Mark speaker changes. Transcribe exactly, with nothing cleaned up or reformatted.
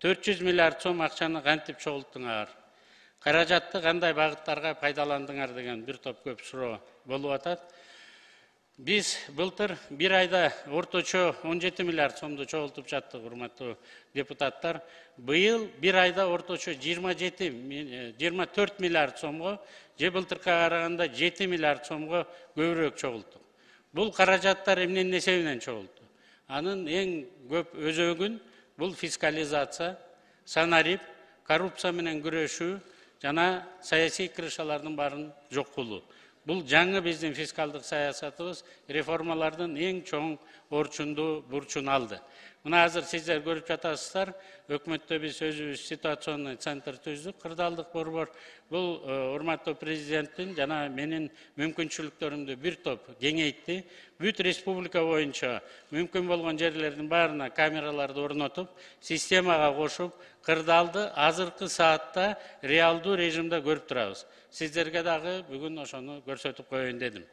Speaker 1: төрт жүз миллиард сом акчаны кантип чогулттуңар? Каражатты кандай багыттарга пайдаландыңар деген бир топ көп суроо болуп атат. Биз былтыр бир айда орточо он жети миллиард сомду чогултуп жаттык, урматтуу депутаттар. Быйыл бир айда орточо жыйырма жети жыйырма төрт миллиард сомго, же былтыркыга караганда жети миллиард сомго көбүрөөк чогулттук. Бул каражаттар эмненин эсебинен чогулду? Анын эң көп өзөгүн бул фискализация, санарип, коррупция менен күрөшүү жана саясий кырышалардын баарын жок кылуу. Бул жаңы биздин фискалдык саясатыбыз реформалардын эң чоң орчунду бурчун алды. Мына азыр сиздер көрүп жатасыздар, өкмөттө биз өзүбүз ситуационный центр түздүк, кырдаалдык борбор. Бул урматтуу президенттин жана менин мүмкүнчүлүктөрүмдү бир топ кеңейтти. Бүт республика боюнча мүмкүн болгон жерлердин баарына камераларды орнотуп, системага кошуп, кырдаалды азыркы саатта реалдуу режимде көрүп турабыз. Сиздерге дагы бүгүн ошону көрсөтүп коеюн дедим.